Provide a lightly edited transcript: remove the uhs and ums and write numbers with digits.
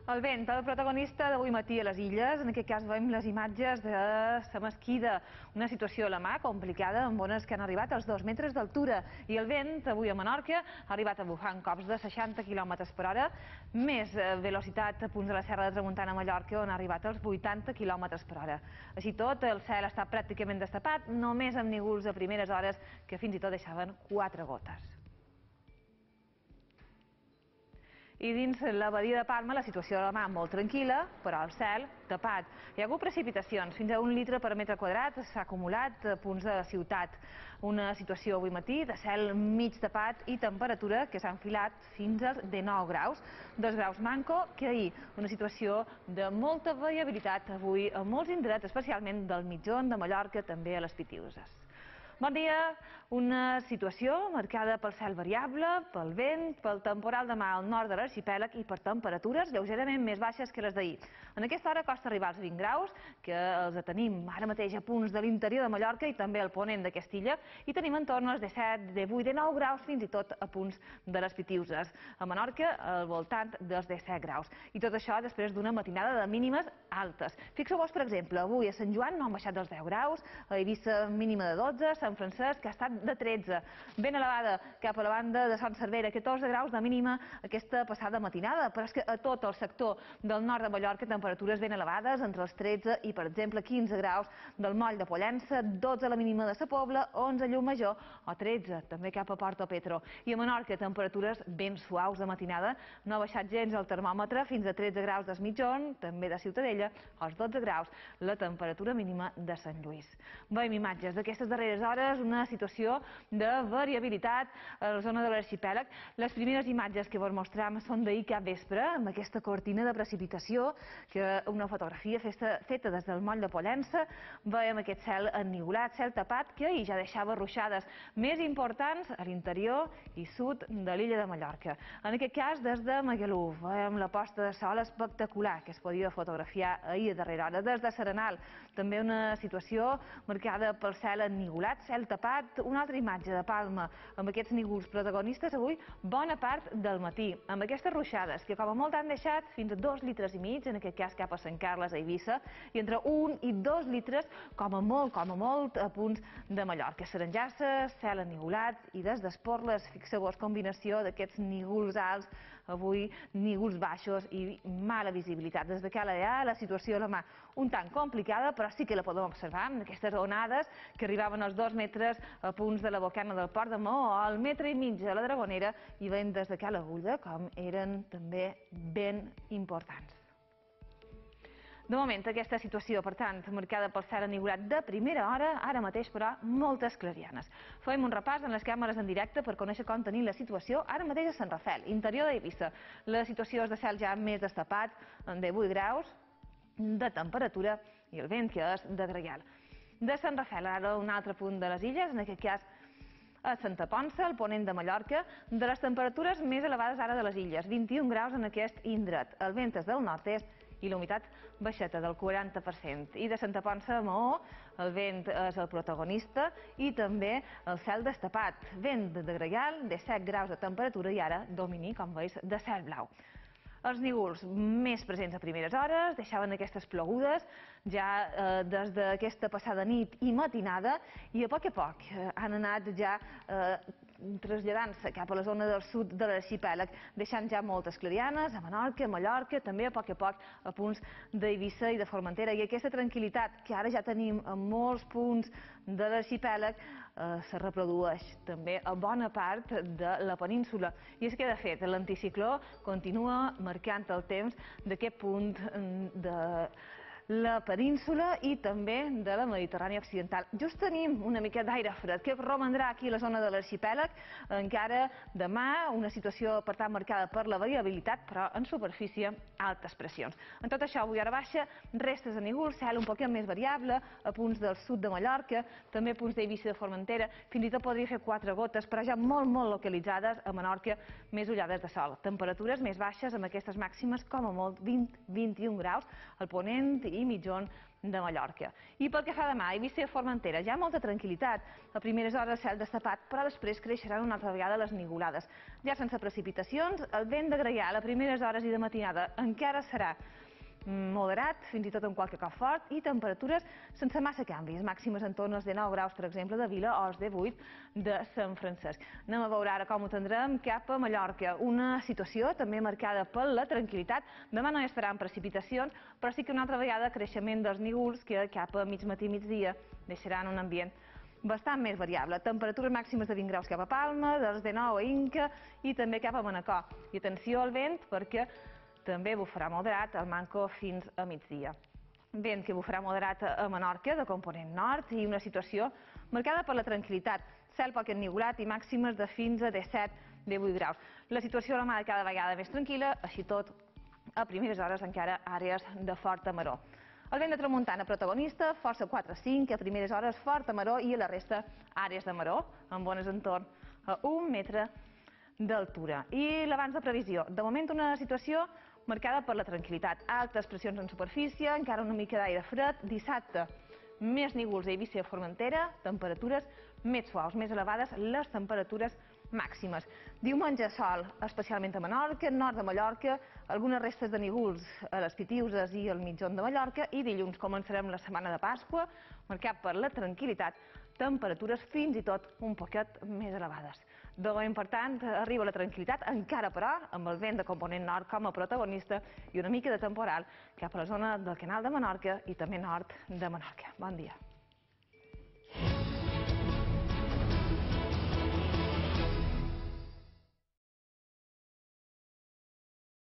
El vent, el protagonista d'avui matí a les Illes. En aquest cas veiem les imatges de la Mesquida, una situació a la mà complicada amb ones que han arribat als 2 metres d'altura. I el vent avui a Menorca ha arribat a bufar en cops de 60 km per hora, més velocitat a punts de la Serra de Tramuntana a Mallorca, on ha arribat als 80 km per hora. Així tot, el cel està pràcticament destapat, només amb núvols a primeres hores que fins i tot deixaven 4 gotes. I dins la badia de Palma la situació a la mà molt tranquil·la, però el cel tapat. Hi ha hagut precipitacions, fins a 1 litre per metre quadrat s'ha acumulat a punts de la ciutat. Una situació avui matí de cel mig tapat i temperatura que s'ha enfilat fins als 19 graus. 2 graus manco que ahir. Una situació de molta variabilitat avui a molts indrets, especialment del mitjon de Mallorca, també a les Pitiüses. Bon dia, una situació marcada pel cel variable, pel vent, pel temporal de mà al nord de l'arxipèlag i per temperatures lleugerament més baixes que les d'ahir. En aquesta hora costa arribar als 20 graus, que els tenim ara mateix a punts de l'interior de Mallorca i també al ponent de Castilla, i tenim en torn als 17, 18, 19 graus, fins i tot a punts de les Pitiüses. A Menorca, al voltant dels 17 graus. I tot això després d'una matinada de mínimes altes. Fixeu-vos, per exemple, avui a Sant Joan no han baixat dels 10 graus, a Eivissa mínima de 12, Sant Francesc ha estat de 13, ben elevada cap a la banda de Son Servera, 14 graus de mínima aquesta passada matinada, però és que a tot el sector del nord de Mallorca temperatures ben elevades, entre els 13 i, per exemple, 15 graus del moll de Pollença, 12 la mínima de Sa Pobla, 11 a Llucmajor o 13 també cap a Portopetro. I a Menorca temperatures ben suaus de matinada, no ha baixat gens el termòmetre fins a 13 graus d'Es Mitjón, també de Ciutadella, als 12 graus la temperatura mínima de Sant Lluís. Veiem imatges d'aquestes darreres hores, una situació de variabilitat a la zona de l'arxipèlag. Les primeres imatges que vos mostrem són d'ahir cap vespre, amb aquesta cortina de precipitació, que una fotografia feta des del moll de Pollença. Veiem aquest cel ennivolat, cel tapat, que ahir ja deixava ruixades més importants a l'interior i sud de l'illa de Mallorca. En aquest cas, des de Magalú, veiem la posta de sol espectacular que es podia fotografiar ahir a darrera hora. Des de Serenal, també una situació marcada pel cel ennivolat, cel tapat. Una altra imatge de Palma amb aquests núvols protagonistes avui bona part del matí, amb aquestes ruixades que com a molt han deixat fins a 2 litres i mig, en aquest cas cap a Sant Carles, a Eivissa, i entre 1 i 2 litres com a molt a punts de Mallorca. Serengassa, cel ennivolat, i des d'Esporles, fixeu-vos, combinació d'aquests núvols alts, avui núvols baixos i mala visibilitat. Des de Cala Dea, la situació a la mà un tant complicada, però sí que la podem observar amb aquestes onades que arribaven als 2 metres a punts de la bocana del Port de Maó, al metre i mig a la Dragonera, i veiem des de Cala Agulla com eren també ben importants. De moment, aquesta situació, per tant, marcada pel cel ennivolat de primera hora, ara mateix, però, moltes clarianes. Fem un repàs en les càmeres en directe per conèixer com tenim la situació ara mateix a Sant Rafel, interior d'Eivissa. La situació és de cel ja més destapat, de 8 graus de temperatura, i el vent que és de gregal. De Sant Rafel, ara un altre punt de les illes, en aquest cas a Santa Ponça, al ponent de Mallorca, de les temperatures més elevades ara de les illes, 21 graus en aquest indret. El vent és del nord-est i la humitat baixeta del 40%. I de Santa Ponça a Maó, el vent és el protagonista i també el cel destapat. Vent de gregal, de 7 graus de temperatura i ara domini, com veus, de cel blau. Els núvols més presents a primeres hores deixaven aquestes plogudes ja des d'aquesta passada nit i matinada, i a poc han anat ja traslladant-se cap a la zona del sud de l'arxipèlag, deixant ja moltes clarianes a Menorca, a Mallorca, també a poc a punts d'Eivissa i de Formentera. I aquesta tranquil·litat que ara ja tenim en molts punts de l'arxipèlag se reprodueix també a bona part de la península. I és que, de fet, l'anticicló continua marcant el temps d'aquest punt de la península i també de la Mediterrània occidental. Just tenim una mica d'aire fred que romandrà aquí a la zona de l'arxipèlag. Encara demà una situació, per tant, marcada per la variabilitat, però en superfície altes pressions. En tot això, avui hora baixa, restes de núvols, cel un poc més variable a punts del sud de Mallorca, també a punts d'Eivissa i de Formentera, fins i tot podria fer 4 gotes, però ja molt localitzades a Menorca, més ullades de sol. Temperatures més baixes amb aquestes màximes, com a molt 20-21 graus, al ponent i mitjón de Mallorca. I pel que fa demà, Eivissa i Formentera, ja molta tranquil·litat. A primeres hores cel destapat, però després creixeran una altra vegada les nigulades. Ja sense precipitacions, el vent de Gaià a primeres hores i de matinada encara serà moderat, fins i tot amb qualque cop fort, i temperatures sense massa canvis, màximes en torn als 19 graus, per exemple, de Vila o als 18 de Sant Francesc. Anem a veure ara com ho tindrem cap a Mallorca. Una situació també marcada per la tranquil·litat. Demà no hi estaran precipitacions, però sí que una altra vegada creixement dels núvols que cap a mig matí i migdia deixaran un ambient bastant més variable. Temperatures màximes de 20 graus cap a Palma, dels 19 a Inca i també cap a Manacor. I atenció al vent perquè també bufarà moderat al Manco fins a migdia. Vent que bufarà moderat a Menorca, de component nord, i una situació marcada per la tranquil·litat. Cel poc ennuvolat i màximes de fins a 17-18 graus. La situació a la mar cada vegada més tranquil·la, així tot, a primeres hores encara àrees de forta maror. El vent de tramuntana protagonista, força 4-5, a primeres hores forta maror i a la resta àrees de maror, amb bones entorn a 1 metre d'altura. I l'abans de previsió. De moment una situació marcada per la tranquil·litat. Altes pressions en superfície, encara una mica d'aire fred. Dissabte, més núvols a Eivissa i Formentera, temperatures més suaus, més elevades les temperatures màximes. Diumenge sol, especialment a Menorca, nord de Mallorca, algunes restes de núvols a les Pitiüses i al mitjan de Mallorca, i dilluns començarem la setmana de Pasqua, marcat per la tranquil·litat, temperatures fins i tot un poquet més elevades. De moment, per tant, arriba la tranquil·litat, encara però, amb el vent de component nord com a protagonista i una mica de temporal cap a la zona del Canal de Menorca i també nord de Menorca. Bon dia.